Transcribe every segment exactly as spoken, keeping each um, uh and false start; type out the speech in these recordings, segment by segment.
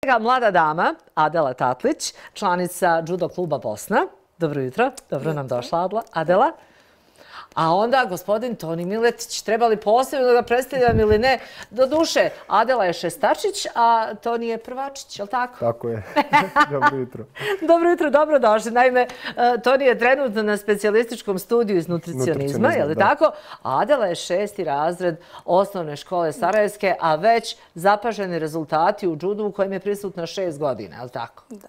Mlada dama, Adela Tatlić, članica Judo kluba Bosna. Dobro jutro, dobro nam došla Adela. A onda gospodin Toni Miletić, treba li posebno da ga predstavljam ili ne? Doduše, Adela je šestačić, a Toni je prvačić, je li tako? Tako je. Dobro jutro. Dobro jutro, dobro došli. Naime, Toni je trenutno na specijalističkom studiju iz nutricionizma, je li tako? A Adela je šesti razred osnovne škole Sarajevske, a već zapaženi rezultati u judu u kojem je prisutna šest godina, je li tako? Da.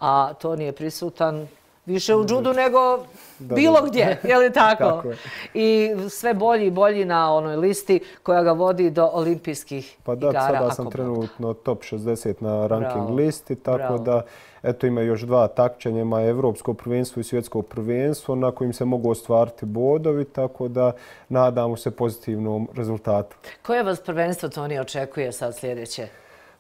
A Toni je prisutan više u judu nego bilo gdje, je li tako? Tako je. I sve bolji i bolji na onoj listi koja ga vodi do olimpijskih Pa da, igara. sada sam trenutno top šezdeset na ranking listi, tako da eto ima još dva takmičenja, ima Evropsko prvenstvo i Svjetsko prvenstvo na kojim se mogu ostvariti bodovi, tako da nadamo se pozitivnom rezultatu. Koje vas prvenstvo, Toni, očekuje sad sljedeće?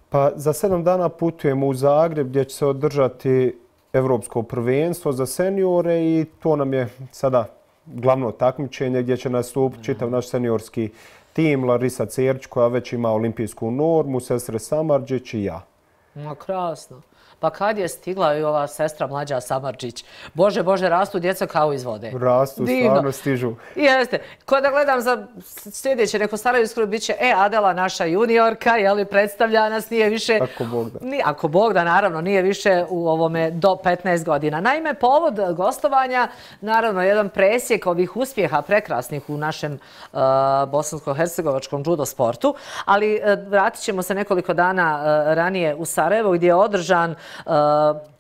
Pa za sedam dana putujemo u Zagreb gdje će se održati Evropsko prvenstvo za seniore i to nam je sada glavno takmičenje gdje će nastupiti čitav naš seniorski tim, Larisa Cerić koja već ima olimpijsku normu, sestre Samardžić i ja. No, krasno. Pa kad je stigla i ova sestra mlađa Samardžić? Bože, Bože, rastu djeca kao iz vode. Rastu, stvarno stižu. Jeste. Ko da gledam za sljedeće, neko Sarajevsko bit će, e, Adela, naša juniorka, je li, predstavlja nas, nije više... Ako Bog da. Ni, ako Bog da, naravno, nije više u ovome do petnaest godina. Naime, povod gostovanja, naravno, jedan presjek ovih uspjeha prekrasnih u našem uh, bosansko-hercegovačkom judo sportu, ali uh, vratit ćemo se nekoliko dana uh, ranije u Sarajevo gdje je održan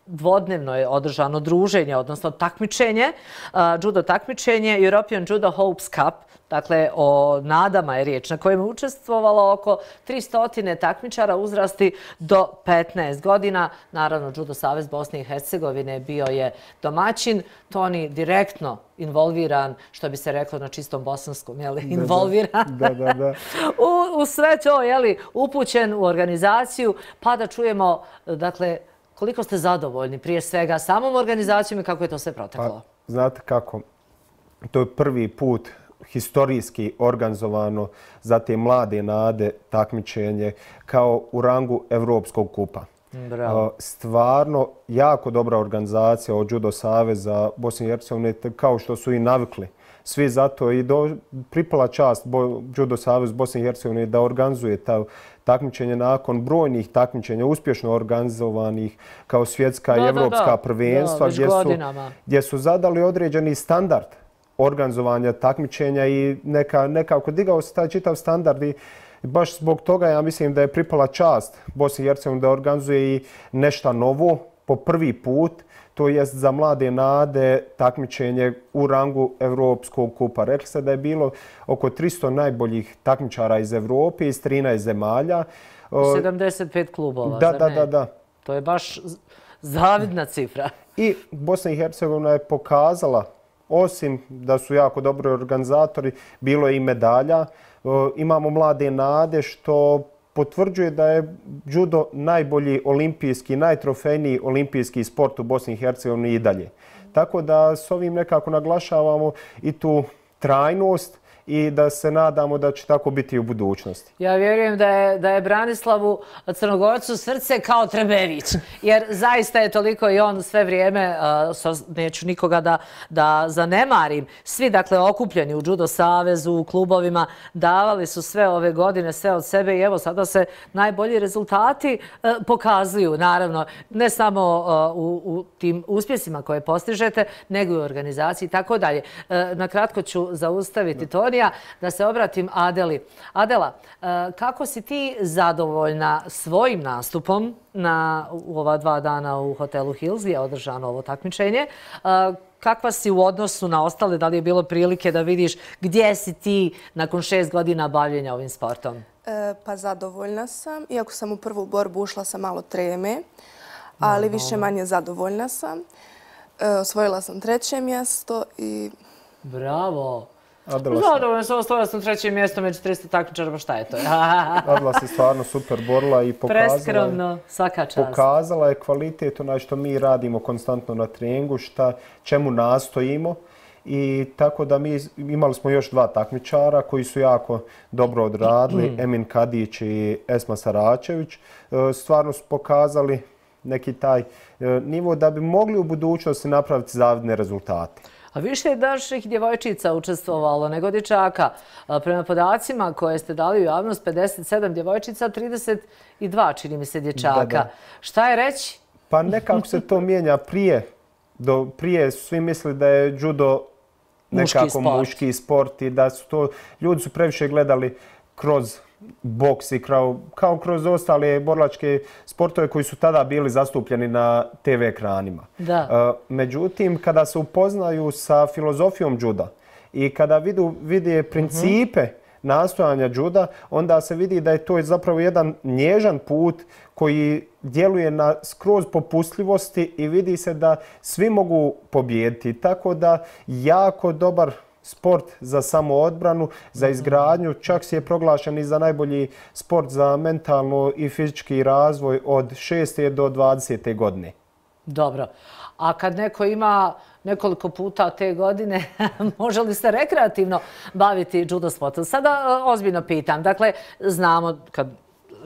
dvodnevno je održano druženje, odnosno takmičenje, judo takmičenje, European Judo Hopes Cup, dakle o nadama je riječ, na kojem je učestvovalo oko tristo takmičara uzrasti do petnaest godina. Naravno, Judo Savez Bosne i Hercegovine bio je domaćin, Toni direktno involviran, što bi se reklo na čistom bosanskom, jeli, involviran da, da, da. u, u sve to, jeli, upućen u organizaciju, pa da čujemo, dakle, koliko ste zadovoljni prije svega samom organizacijom i kako je to sve proteklo? Pa, znate kako, to je prvi put historijski organizovano za te mlade nade takmičenje kao u rangu Evropskog kupa. Bravo. Stvarno jako dobra organizacija od Judo Saveza Bosne i Hercegovine, kao što su i navikli. Svi zato i do, pripala čast Bo, Judo Savez Bosne i Hercegovine da organizuje ta takmičenje nakon brojnih takmičenja, uspješno organizovanih kao svjetska da, i evropska da, da. prvenstva, da, gdje, su, gdje su zadali određeni standard organizovanja takmičenja i neka, nekako digao se taj čitav standard i baš zbog toga ja mislim da je pripala čast Bosni i Hercegovini da organizuje i nešto novo po prvi put, to jest za mlade nade takmičenje u rangu Evropskog kupa. Rekli ste da je bilo oko tristo najboljih takmičara iz Evrope, iz trinaest zemalja. sedamdeset pet klubova, da, zar da, ne? Da, da. To je baš zavidna cifra. I Bosna i Hercegovina je pokazala, osim da su jako dobri organizatori, bilo je i medalja. Imamo mlade nade što potvrđuje da je judo najbolji olimpijski, najtrofejniji olimpijski sport u Bosni i Hercegovini i dalje. Tako da s ovim nekako naglašavamo i tu trajnost i da se nadamo da će tako biti i u budućnosti. Ja vjerujem da je, da je Branislavu Crnogorcu srce kao Trebević, jer zaista je toliko i on sve vrijeme, uh, neću nikoga da, da zanemarim, svi dakle okupljeni u Judo Savezu, u klubovima, davali su sve ove godine, sve od sebe i evo sada se najbolji rezultati uh, pokazuju, naravno, ne samo uh, u, u tim uspjesima koje postižete, nego i u organizaciji i tako dalje. Uh, na kratko ću zaustaviti Toni, da se obratim Adeli. Adela, kako si ti zadovoljna svojim nastupom na u ova dva dana u hotelu Hills gdje je održano ovo takmičenje? Kakva si u odnosu na ostale? Da li je bilo prilike da vidiš gdje si ti nakon šest godina bavljenja ovim sportom? E, pa zadovoljna sam. Iako sam u prvu borbu ušla sa malo treme, ali više manje zadovoljna sam. E, osvojila sam treće mjesto i... Bravo! Adela Zadovoljno sam, osvojila sam treće mjesto među tristo takmičara, pa šta je to? Adela se stvarno super borila i pokazala, preskromno, svaka čast. Pokazala je kvalitet onaj što mi radimo konstantno na treningu, šta, čemu nastojimo I tako da mi imali smo još dva takmičara koji su jako dobro odradili, Emin Kadić i Esma Saračević. Stvarno su pokazali neki taj nivo da bi mogli u budućnosti napraviti zavidne rezultate. A više je naših djevojčica učestvovalo nego dječaka. Prema podacima koje ste dali u javnost, pedeset sedam djevojčica, trideset dva čini mi se dječaka. Da, da. Šta je reći? Pa nekako se to mijenja prije. Do, prije su svi mislili da je judo nekako muški sport. muški sport i da su to, ljudi su previše gledali kroz boks i kao, kao kroz ostale borilačke sportove koji su tada bili zastupljeni na te ve ekranima. Da. Uh, međutim, kada se upoznaju sa filozofijom juda i kada vidu, vide principe uh-huh. nastojanja juda, onda se vidi da je to zapravo jedan nježan put koji djeluje na skroz popustljivosti i vidi se da svi mogu pobijediti. Tako da jako dobar sport za samoodbranu, za izgradnju, čak si je proglašen i za najbolji sport za mentalno i fizički razvoj od šeste do dvadesete godine. Dobro. A kad neko ima nekoliko puta te godine, može li se rekreativno baviti judo sportom? Sada ozbiljno pitam. Dakle, znamo kad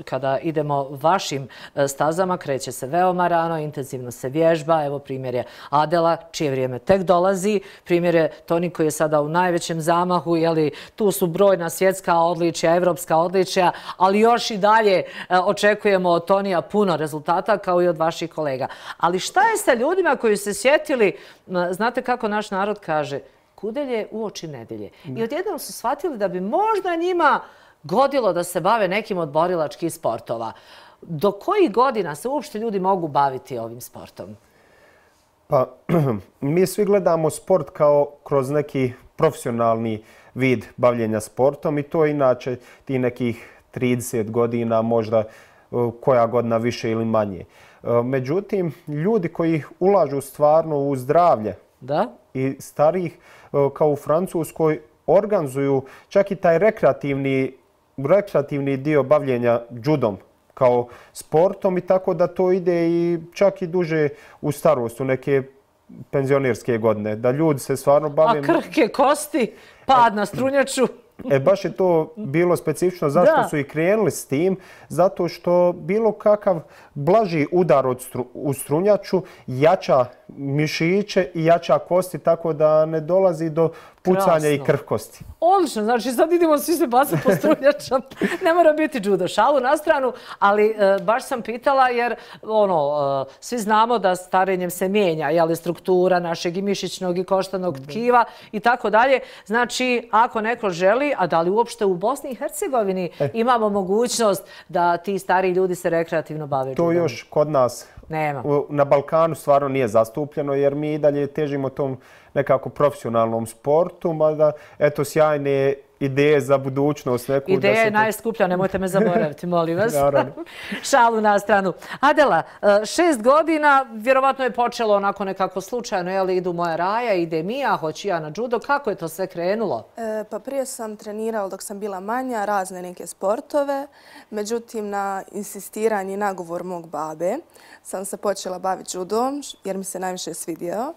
kada idemo vašim stazama, kreće se veoma rano, intenzivno se vježba. Evo primjer je Adela, čije vrijeme tek dolazi. Primjer je Toni koji je sada u najvećem zamahu. Jeli, tu su brojna svjetska odličja, evropska odličja, ali još i dalje očekujemo od Tonija puno rezultata kao i od vaših kolega. Ali šta je sa ljudima koji se sjetili, znate kako naš narod kaže, kudelje u oči nedelje. I odjednom su shvatili da bi možda njima godilo da se bave nekim od borilačkih sportova. Do kojih godina se uopšte ljudi mogu baviti ovim sportom? Pa, mi svi gledamo sport kao kroz neki profesionalni vid bavljenja sportom i to je inače ti nekih trideset godina, možda koja godina više ili manje. Međutim, ljudi koji ulažu stvarno u zdravlje da? i starih, kao u Francuskoj, organizuju čak i taj rekreativni rekreativni dio bavljenja judom kao sportom i tako da to ide i čak i duže u starost, u neke penzionirske godine. Da ljudi se stvarno bave... A krhke kosti, pad na strunjaču. E, baš je to bilo specifično. Zašto da. su i krenuli s tim? Zato što bilo kakav blaži udar od stru, u strunjaču jača mišiće i jača kosti, tako da ne dolazi do pucanja Krasno. i krhkosti. Odlično, znači sad idemo svi se baciti po strunjačom. Ne mora biti judo. Šalu na stranu, ali e, baš sam pitala jer ono, e, svi znamo da starenjem se mijenja, jeli, struktura našeg i mišićnog i koštanog tkiva i tako dalje. Znači, ako neko želi, a da li uopšte u Bosni i Hercegovini e. imamo mogućnost da ti stari ljudi se rekreativno bave judom? To još kod nas nema. Na Balkanu stvarno nije zastupljeno jer mi i dalje težimo tom nekako profesionalnom sportu, mada eto sjajne ideje za budućnost. Neku, Ideja da je se najskuplja, nemojte me zaboraviti, molim vas. Šalu na stranu. Adela, šest godina, vjerovatno je počelo onako nekako slučajno, je li idu moja Raja, ide Mija, hoću ja na judo. Kako je to sve krenulo? E, pa prije sam trenirala dok sam bila manja razne neke sportove. Međutim, na insistiranje i nagovor mog babe sam se počela baviti judom jer mi se najviše svidio.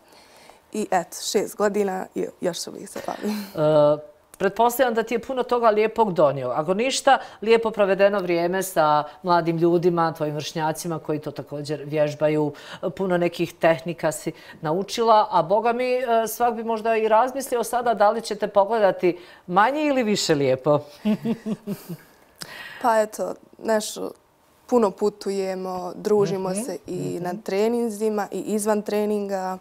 I eto, šest godina i još uvijek se bavim. Uh, pretpostavljam da ti je puno toga lijepog donio. Ako ništa, lijepo provedeno vrijeme sa mladim ljudima, tvojim vršnjacima koji to također vježbaju. Puno nekih tehnika si naučila, a boga mi svak bi možda i razmislio sada da li ćete pogledati manje ili više lijepo. Pa eto, nešto, puno putujemo, družimo mm-hmm. se i mm-hmm. na treninzima i izvan treninga.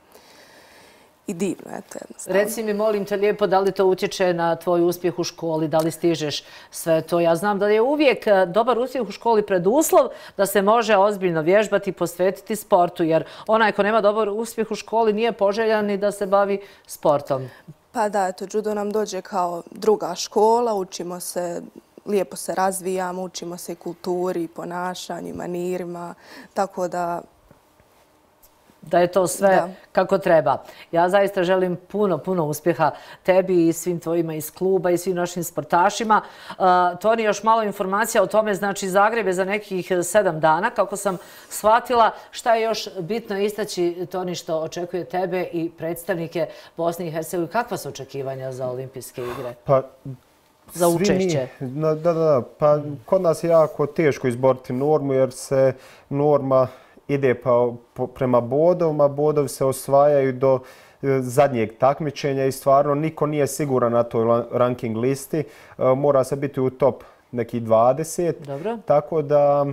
I divno, eto jednostavno. Reci mi, molim te lijepo, da li to utječe na tvoj uspjeh u školi, da li stižeš sve to? Ja znam da je uvijek dobar uspjeh u školi preduslov da se može ozbiljno vježbati i posvetiti sportu, jer onaj ko nema dobar uspjeh u školi nije poželjan ni da se bavi sportom. Pa da, eto, judo nam dođe kao druga škola, učimo se, lijepo se razvijamo, učimo se i kulturi, ponašanju, manirima, tako da da je to sve Da. kako treba. Ja zaista želim puno, puno uspjeha tebi i svim tvojima iz kluba i svim našim sportašima. Uh, Toni, još malo informacija o tome, znači Zagreb je za nekih sedam dana, kako sam shvatila. Šta je još bitno istaći, Toni, što očekuje tebe i predstavnike Bosne i Hercegovine? Kakva su očekivanja za olimpijske igre? Pa, za svi učešće? Mi, da, da, da. Pa, kod nas je jako teško izboriti normu jer se norma ide pa, po, prema bodovima, bodovi se osvajaju do e, zadnjeg takmičenja i stvarno niko nije siguran na toj ranking listi. E, mora se biti u top neki dvadeset. Dobro. Tako da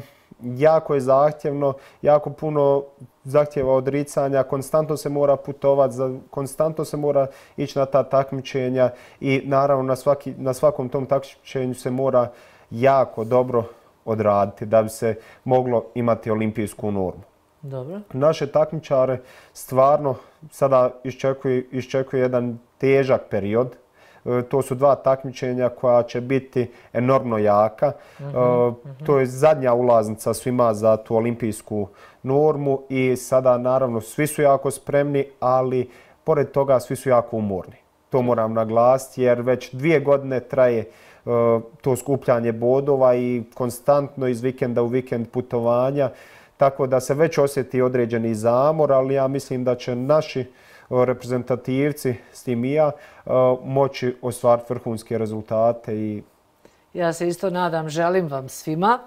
jako je zahtjevno, jako puno zahtjeva odricanja, konstantno se mora putovati, konstantno se mora ići na ta takmičenja i naravno na, svaki, na svakom tom takmičenju se mora jako dobro odraditi da bi se moglo imati olimpijsku normu. Dobro. Naše takmičare stvarno sada iščekuje, iščekuje jedan težak period. E, to su dva takmičenja koja će biti enormno jaka. Uh-huh, uh-huh. E, to je zadnja ulaznica svima za tu olimpijsku normu i sada naravno svi su jako spremni, ali pored toga svi su jako umorni. To moram naglasiti jer već dvije godine traje to skupljanje bodova i konstantno iz vikenda u vikend putovanja, tako da se već osjeti određeni zamor, ali ja mislim da će naši reprezentativci, s tim i ja, moći ostvariti vrhunske rezultate. I ja se isto nadam, želim vam svima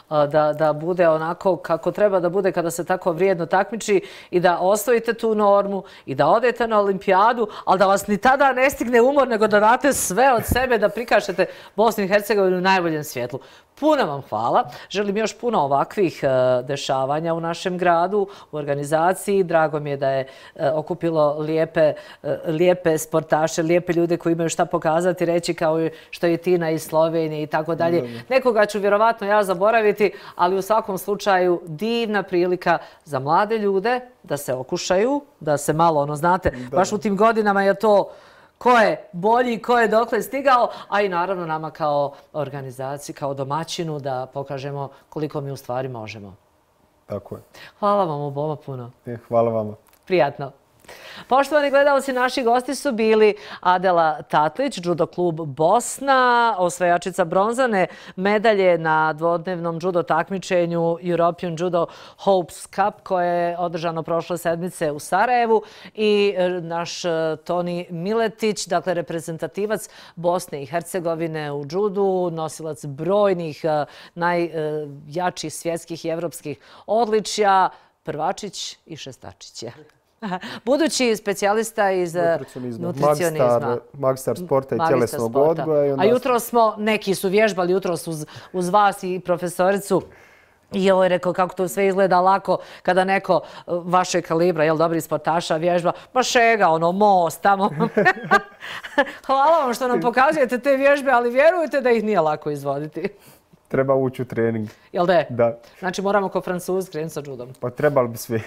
da, da bude onako kako treba da bude kada se tako vrijedno takmiči i da osvojite tu normu i da odete na olimpijadu, ali da vas ni tada ne stigne umor, nego da date sve od sebe da prikažete Bosnu i Hercegovinu u najboljem svjetlu. Puno vam hvala. Želim još puno ovakvih uh, dešavanja u našem gradu, u organizaciji. Drago mi je da je uh, okupilo lijepe, uh, lijepe sportaše, lijepe ljude koji imaju šta pokazati, reći kao što je Tina iz Slovenije i tako dalje. Nekoga ću vjerovatno ja zaboraviti, ali u svakom slučaju divna prilika za mlade ljude da se okušaju, da se malo, ono znate, da. Baš u tim godinama je to ko je bolji, ko je dokle stigao, a i naravno nama kao organizaciji, kao domaćinu da pokažemo koliko mi u stvari možemo. Tako je. Hvala vam oboma puno. Hvala vama. Prijatno. Poštovani gledalci, naši gosti su bili Adela Tatlić, Judo klub Bosna, osvajačica bronzane medalje na dvodnevnom judo takmičenju European Judo Hopes Cup koje je održano prošle sedmice u Sarajevu, i naš Toni Miletić, dakle reprezentativac Bosne i Hercegovine u judu, nosilac brojnih najjačih svjetskih i evropskih odličja, prvačić i šestačić. Budući specijalista iz nutricionizma. Magistar sporta i tjelesnog odgoja. A jutro smo, neki su vježbali jutros uz, uz vas i profesoricu. I ovo je rekao kako to sve izgleda lako kada neko vaše kalibra, jel, dobri sportaša vježba, pa šega, ono, most tamo. Hvala vam što nam pokazujete te vježbe, ali vjerujte da ih nije lako izvoditi. Treba ući u trening. Jel da je? Da. Znači moramo ko Francuz krenuti sa judom. Pa trebali bi svi.